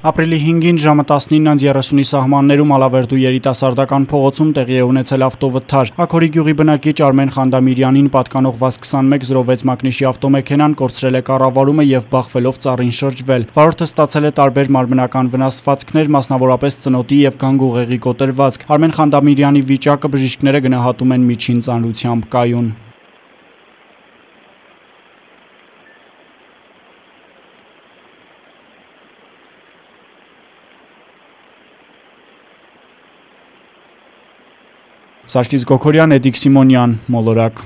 Ապրիլի 5-ին ժամը 19:30-ի սահմաններում Ալավերդու երիտասարդական փողոցում տեղի է ունեցել ավտովթար։ Աքորի գյուղի բնակիչ Արմեն Խանդամիրյանին պատկանող VAZ-2106 մակնիշի ավտոմեքենան կորցրել է կառավարումը եւ բախվելով ծառին շրջվել։ Վարորդը ստացել է տարբեր մարմնական վնասվածքներ, մասնավորապես ծնոտի եւ գանգուղեղի կոտրվածք։ Արմեն Խանդամիրյանի վիճակը բժիշկները գնահատում են միջին ծանրությամբ կայուն։ Սարգիս Գոքորյան, Էդիկ Սիմոնյան, Մոլորակ։